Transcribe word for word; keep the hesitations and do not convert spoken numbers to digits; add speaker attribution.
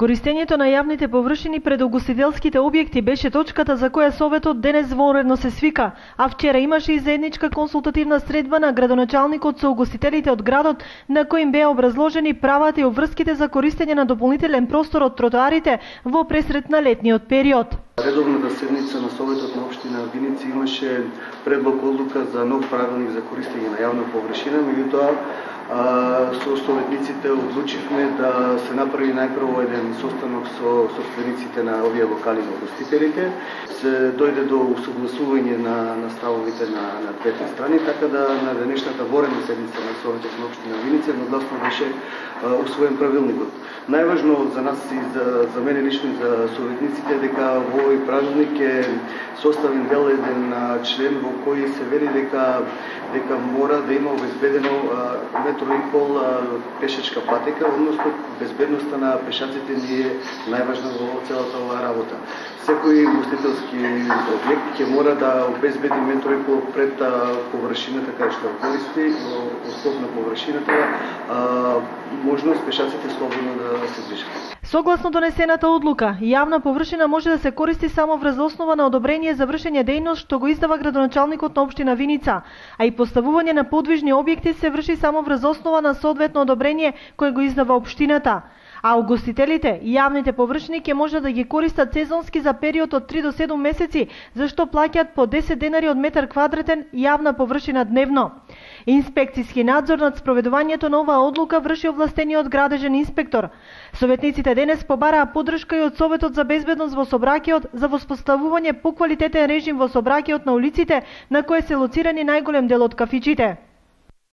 Speaker 1: Користењето на јавните површини пред угостителските објекти беше точката за која Советот денес вонредно се свика, а вчера имаше и заедничка консултативна средба на градоначалникот со угостителите од градот, на кој им беа образложени правата и обврските за користење на дополнителен простор од тротоарите во пресрет на летниот период.
Speaker 2: Редовната седница на Советот на општина Виница имаше предлог одлука за нов правилник за користење на јавна површина, меѓутоа со советниците одлучивме да се направи најпрво еден состанок со собствениците на овие локали на угостителите, се дојде до усогласување на, на ставовите на, на двете страни, така да на денешната воредна седница на Советот на општина Виница едногласно беше усвоен правилникот. Најважно за нас и за, за мене лично и за советниците дека во овој правилник е составен дел еден член во кој се вели дека дека мора да има обезбедено метро и пол пешачка патека, односно безбедноста на пешаците ни е најважна во целата оваа работа. Секој угостителски објект ќе мора да обезбеди метро и пол пред површината кај што користи, во услов на површината, можност пешаците слободно да се движат.
Speaker 1: Согласно донесената одлука, јавна површина може да се користи само врз основа на одобрение за вршење дејност што го издава градоначалникот на општина Виница, а и поставување на подвижни објекти се врши само врз основа на соодветно одобрение кое го издава општината. А угостителите и јавните површини ќе може да ги користат сезонски за период од три до седум месеци, зашто плаќаат по десет денари од метар квадратен јавна површина дневно. Инспекцијски надзор над спроведувањето на оваа одлука врши овластениот градежен инспектор. Советниците денес побараа поддршка и од Советот за безбедност во сообраќајот за воспоставување поквалитетен режим во сообраќајот на улиците на кои се лоцирани најголем дел од кафичите.